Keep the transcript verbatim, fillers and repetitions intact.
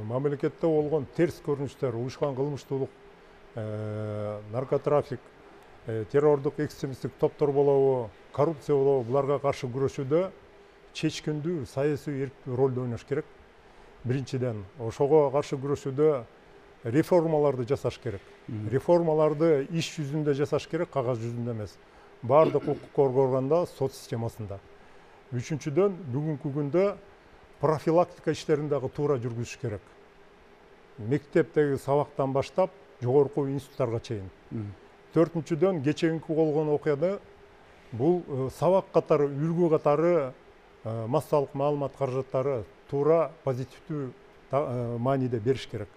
мамлекетте болгон терс көрүнүштөр, уюшкан кылмыштуулук, наркотрафик, террордук экстремисттик топтор болобу, коррупция болобу, буларга каршы күрөшүүдө чечкиндүү саясий ролду ойнош керек. Биринчиден, ошого каршы күрөшүүдө реформаларды жасаш керек. Реформаларды иш жүзүндө жасаш керек, кагаз жүзүндө эмес. Бардык укук органда, сот системасында. Үчүнчүдөн, бүгүнкү күндө профилактика иштерин дагы туура жүргүзүш керек. Мектептеги сабактан баштап, жогорку институттарга чейин. Төртүнчүдөн, кечээинки болгон окуяда бул сабак катары, үлгү катары массалык маалымат каражаттары туура позитивдүү мааниде бериш керек.